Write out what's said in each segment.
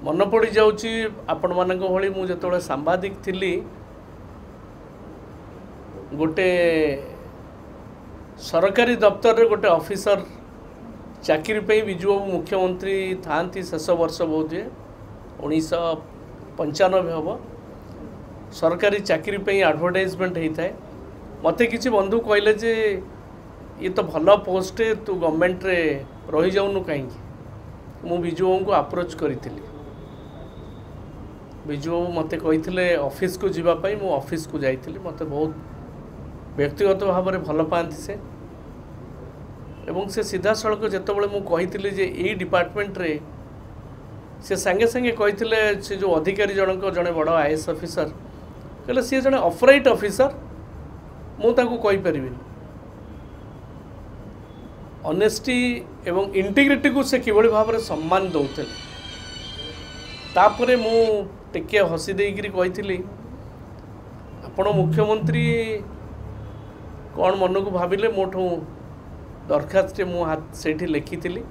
ମନେ ପଡ଼ିଯାଉଛି ଆପଣମାନଙ୍କ ଭଳି ମୁଁ ଯେତେବେଳେ ସାମ୍ବାଦିକ ଥିଲି, ଗୋଟେ ସରକାରୀ ଦପ୍ତରରେ ଗୋଟେ ଅଫିସର ଚାକିରି ପାଇଁ ବିଜୁବାବୁ ମୁଖ୍ୟମନ୍ତ୍ରୀ ଥାଆନ୍ତି ଶେଷ ବର୍ଷ ବୋଧହୁଏ 1995 ହେବ, ସରକାରୀ ଚାକିରି ପାଇଁ ଆଡ଼ଭର୍ଟାଇଜମେଣ୍ଟ ହେଇଥାଏ। ମୋତେ କିଛି ବନ୍ଧୁ କହିଲେ ଯେ ଇଏ ତ ଭଲ ପୋଷ୍ଟ, ତୁ ଗଭର୍ଣ୍ଣମେଣ୍ଟରେ ରହିଯାଉନୁ କାହିଁକି। ମୁଁ ବିଜୁବାବୁଙ୍କୁ ଆପ୍ରୋଚ୍ କରିଥିଲି। ବିଜୁବାବୁ ମୋତେ କହିଥିଲେ ଅଫିସକୁ ଯିବା ପାଇଁ। ମୁଁ ଅଫିସକୁ ଯାଇଥିଲି। ମୋତେ ବହୁତ ବ୍ୟକ୍ତିଗତ ଭାବରେ ଭଲ ପାଆନ୍ତି ସେ, ଏବଂ ସେ ସିଧାସଳଖ ଯେତେବେଳେ ମୁଁ କହିଥିଲି ଯେ ଏଇ ଡିପାର୍ଟମେଣ୍ଟରେ, ସେ ସାଙ୍ଗେ ସାଙ୍ଗେ କହିଥିଲେ, ସେ ଯେଉଁ ଅଧିକାରୀ ଜଣଙ୍କ ଜଣେ ବଡ଼ IAS officer, କହିଲେ ସିଏ ଜଣେ ଅପରାଇଟ୍ ଅଫିସର, ମୁଁ ତାଙ୍କୁ କହିପାରିବିନି। ଅନେଷ୍ଟି ଏବଂ ଇଣ୍ଟିଗ୍ରିଟିକୁ ସେ କିଭଳି ଭାବରେ ସମ୍ମାନ ଦେଉଥିଲେ। ତାପରେ ମୁଁ ଟିକିଏ ହସି ଦେଇକରି କହିଥିଲି, ଆପଣ ମୁଖ୍ୟମନ୍ତ୍ରୀ କ'ଣ ମନକୁ ଭାବିଲେ ମୋଠୁ ଦରଖାସ୍ତଟି ମୁଁ ସେଇଠି ଲେଖିଥିଲି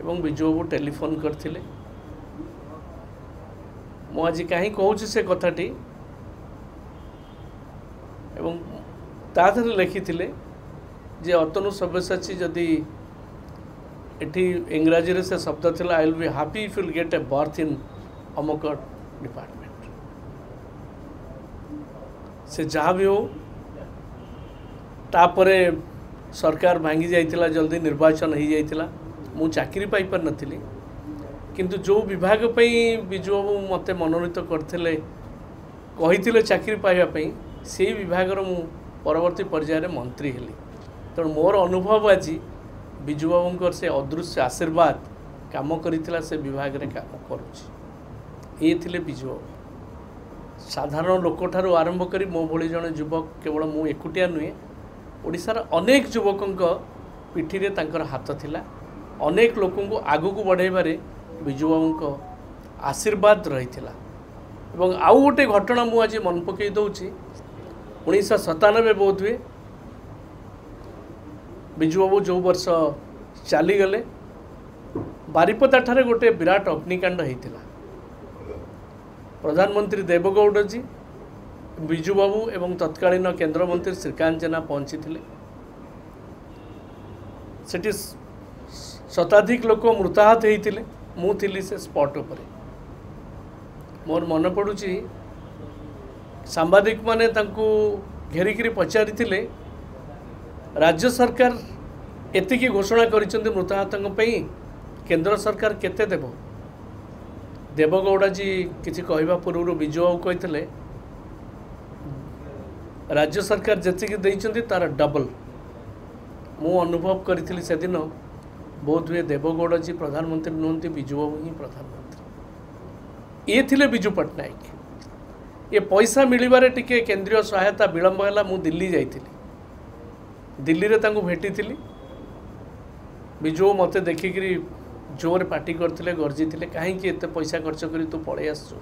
ଏବଂ ବିଜୁବାବୁ ଟେଲିଫୋନ୍ କରିଥିଲେ। ମୁଁ ଆଜି କାହିଁ କହୁଛି ସେ କଥାଟି, ଏବଂ ତା ଦେହରେ ଲେଖିଥିଲେ ଯେ ଅତନୁ ସବ୍ୟସାଚୀ, ଯଦି ଏଠି ଇଂରାଜୀରେ ସେ ଶବ୍ଦ ଥିଲା, I will be happy if you'll get a berth in ଅମକ ଡିପାର୍ଟମେଣ୍ଟ। ସେ ଯାହା ବି ହଉ, ତାପରେ ସରକାର ଭାଙ୍ଗି ଯାଇଥିଲା, ଜଲ୍ଦି ନିର୍ବାଚନ ହେଇଯାଇଥିଲା, ମୁଁ ଚାକିରି ପାଇପାରିନଥିଲି। କିନ୍ତୁ ଯେଉଁ ବିଭାଗ ପାଇଁ ବିଜୁବାବୁ ମୋତେ ମନୋନୀତ କରିଥିଲେ, କହିଥିଲେ ଚାକିରି ପାଇବା ପାଇଁ, ସେଇ ବିଭାଗର ମୁଁ ପରବର୍ତ୍ତୀ ପର୍ଯ୍ୟାୟରେ ମନ୍ତ୍ରୀ ହେଲି। ତେଣୁ ମୋର ଅନୁଭବ ଆଜି ବିଜୁବାବୁଙ୍କର ସେ ଅଦୃଶ୍ୟ ଆଶୀର୍ବାଦ କାମ କରିଥିଲା, ସେ ବିଭାଗରେ କାମ କରୁଛି। ଇଏ ଥିଲେ ବିଜୁବାବୁ। ସାଧାରଣ ଲୋକଠାରୁ ଆରମ୍ଭ କରି ମୋ ଭଳି ଜଣେ ଯୁବକ, କେବଳ ମୁଁ ଏକୁଟିଆ ନୁହେଁ, ଓଡ଼ିଶାର ଅନେକ ଯୁବକଙ୍କ ପିଠିରେ ତାଙ୍କର ହାତ ଥିଲା। ଅନେକ ଲୋକଙ୍କୁ ଆଗକୁ ବଢ଼ାଇବାରେ ବିଜୁବାବୁଙ୍କ ଆଶୀର୍ବାଦ ରହିଥିଲା। ଏବଂ ଆଉ ଗୋଟେ ଘଟଣା ମୁଁ ଆଜି ମନେ ପକାଇ ଦେଉଛି, 1997 ବୋଧହୁଏ ବିଜୁବାବୁ ଯେଉଁ ବର୍ଷ ଚାଲିଗଲେ, ବାରିପଦାଠାରେ ଗୋଟେ ବିରାଟ ଅଗ୍ନିକାଣ୍ଡ ହେଇଥିଲା। ପ୍ରଧାନମନ୍ତ୍ରୀ ଦେବଗୌଡ଼ଜୀ, ବିଜୁବାବୁ ଏବଂ ତତ୍କାଳୀନ କେନ୍ଦ୍ରମନ୍ତ୍ରୀ ଶ୍ରୀକାନ୍ତ ଜେନା ପହଞ୍ଚିଥିଲେ। ସେଠି ଶତାଧିକ ଲୋକ ମୃତାହତ ହେଇଥିଲେ। ମୁଁ ଥିଲି ସେ ସ୍ପଟ୍ ଉପରେ। ମୋର ମନେ ପଡ଼ୁଛି ସାମ୍ବାଦିକମାନେ ତାଙ୍କୁ ଘେରିକିରି ପଚାରିଥିଲେ, ରାଜ୍ୟ ସରକାର ଏତିକି ଘୋଷଣା କରିଛନ୍ତି ମୃତାହତଙ୍କ ପାଇଁ, କେନ୍ଦ୍ର ସରକାର କେତେ ଦେବ? ଦେବଗୌଡ଼ାଜୀ କିଛି କହିବା ପୂର୍ବରୁ ବିଜୁବାବୁ କହିଥିଲେ, ରାଜ୍ୟ ସରକାର ଯେତିକି ଦେଇଛନ୍ତି ତାର ଡବଲ୍। ମୁଁ ଅନୁଭବ କରିଥିଲି ସେଦିନ ବୋଧହୁଏ ଦେବଗୌଡ଼ାଜୀ ପ୍ରଧାନମନ୍ତ୍ରୀ ନୁହନ୍ତି, ବିଜୁବାବୁ ହିଁ ପ୍ରଧାନମନ୍ତ୍ରୀ। ଇଏ ଥିଲେ ବିଜୁ ପଟ୍ଟନାୟକ। ଏ ପଇସା ମିଳିବାରେ ଟିକେ କେନ୍ଦ୍ରୀୟ ସହାୟତା ବିଳମ୍ବ ହେଲା। ମୁଁ ଦିଲ୍ଲୀ ଯାଇଥିଲି, ଦିଲ୍ଲୀରେ ତାଙ୍କୁ ଭେଟିଥିଲି। ବିଜୁ ମୋତେ ଦେଖିକିରି ଜୋରରେ ପାଟି କରିଥିଲେ, ଗର୍ଜିଥିଲେ, କାହିଁକି ଏତେ ପଇସା ଖର୍ଚ୍ଚ କରି ତୁ ପଳେଇ ଆସିଛୁ?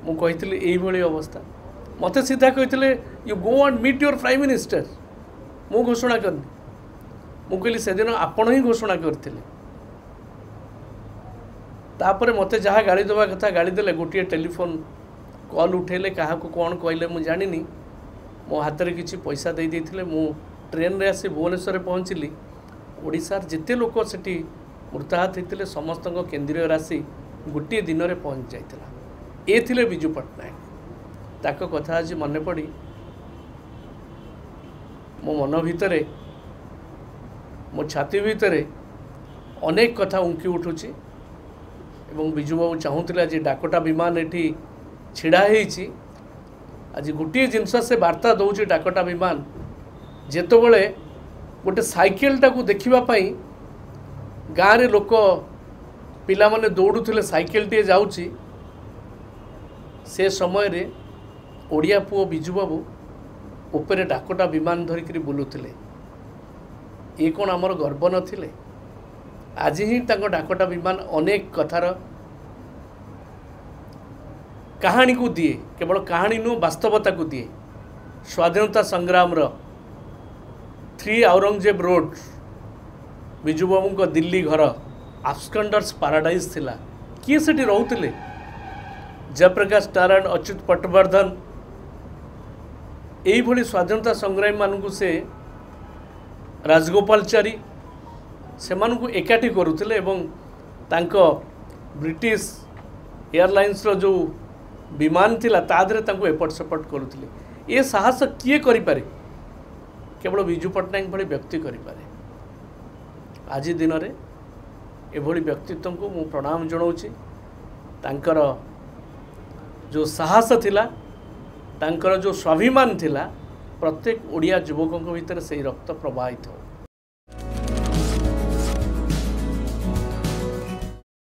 ମୁଁ କହିଥିଲି ଏଇଭଳି ଅବସ୍ଥା। ମୋତେ ସିଧା କହିଥିଲେ, you go and meet your prime minister. ମୁଁ ଘୋଷଣା କରିନି। ମୁଁ କହିଲି ସେଦିନ ଆପଣ ହିଁ ଘୋଷଣା କରିଥିଲେ। ତାପରେ ମୋତେ ଯାହା ଗାଳି ଦେବା କଥା ଗାଳି ଦେଲେ। ଗୋଟିଏ ଟେଲିଫୋନ୍ କଲ୍ ଉଠେଇଲେ, କାହାକୁ କ'ଣ କହିଲେ ମୁଁ ଜାଣିନି, ମୋ ହାତରେ କିଛି ପଇସା ଦେଇ ଦେଇଥିଲେ। ମୁଁ ଟ୍ରେନ୍ରେ ଆସି ଭୁବନେଶ୍ୱରରେ ପହଞ୍ଚିଲି। ଓଡ଼ିଶାର ଯେତେ ଲୋକ ସେଠି ମୃତାହତ ହେଇଥିଲେ ସମସ୍ତଙ୍କ କେନ୍ଦ୍ରୀୟ ରାଶି ଗୋଟିଏ ଦିନରେ ପହଞ୍ଚି ଯାଇଥିଲା। ଏ ଥିଲେ ବିଜୁ ପଟ୍ଟନାୟକ। ତାଙ୍କ କଥା ଆଜି ମନେ ପଡ଼ି ମୋ ମନ ଭିତରେ, ମୋ ଛାତି ଭିତରେ ଅନେକ କଥା ଉଙ୍କି ଉଠୁଛି। ଏବଂ ବିଜୁବାବୁ ଚାହୁଁଥିଲେ ଆଜି ଡାକୋଟା ବିମାନ ଏଠି ଛିଡ଼ା ହେଇଛି, ଆଜି ଗୋଟିଏ ଜିନିଷ ସେ ବାର୍ତ୍ତା ଦେଉଛି ଡାକୋଟା ବିମାନ, ଯେତେବେଳେ ଗୋଟେ ସାଇକେଲଟାକୁ ଦେଖିବା ପାଇଁ ଗାଁରେ ଲୋକ ପିଲାମାନେ ଦୌଡ଼ୁଥିଲେ, ସାଇକେଲଟିଏ ଯାଉଛି, ସେ ସମୟରେ ଓଡ଼ିଆ ପୁଅ ବିଜୁବାବୁ ଉପରେ ଡାକୋଟା ବିମାନ ଧରିକିରି ବୁଲୁଥିଲେ। ଇଏ କ'ଣ ଆମର ଗର୍ବ ନଥିଲେ? ଆଜି ହିଁ ତାଙ୍କ ଡାକୋଟା ବିମାନ ଅନେକ କଥାର କାହାଣୀକୁ ଦିଏ, କେବଳ କାହାଣୀ ନୁହଁ ବାସ୍ତବତାକୁ ଦିଏ। ସ୍ୱାଧୀନତା ସଂଗ୍ରାମର 3 ଔରଙ୍ଗଜେବ ରୋଡ଼, ବିଜୁବାବୁଙ୍କ ଦିଲ୍ଲୀ ଘର, ଆବସ୍କଣ୍ଡର୍ସ ପାରାଡାଇଜ୍ ଥିଲା। କିଏ ସେଠି ରହୁଥିଲେ? ଜୟପ୍ରକାଶ ନାରାୟଣ, ଅଚ୍ୟୁତ ପଟ୍ଟବର୍ଦ୍ଧନ, ଏଇଭଳି ସ୍ୱାଧୀନତା ସଂଗ୍ରାମୀମାନଙ୍କୁ ସେ, ରାଜଗୋପାଳଚାରୀ, ସେମାନଙ୍କୁ ଏକାଠି କରୁଥିଲେ ଏବଂ ତାଙ୍କ ବ୍ରିଟିଶ ଏୟାରଲାଇନ୍ସର ଯେଉଁ ବିମାନ ଥିଲା ତା ଦେହରେ ତାଙ୍କୁ ଏପଟ ସେପଟ କରୁଥିଲେ। ଏ ସାହସ କିଏ କରିପାରେ? କେବଳ ବିଜୁ ପଟ୍ଟନାୟକ ଭଳି ବ୍ୟକ୍ତି କରିପାରେ। ଆଜି ଦିନରେ ଏଭଳି ବ୍ୟକ୍ତିତ୍ୱଙ୍କୁ ମୁଁ ପ୍ରଣାମ ଜଣାଉଛି। ତାଙ୍କର ଯେଉଁ ସାହସ ଥିଲା, ତାଙ୍କର ଯେଉଁ ସ୍ୱାଭିମାନ ଥିଲା, ପ୍ରତ୍ୟେକ ଓଡ଼ିଆ ଯୁବକଙ୍କ ଭିତରେ ସେଇ ରକ୍ତ ପ୍ରବାହିତ ହେଉ।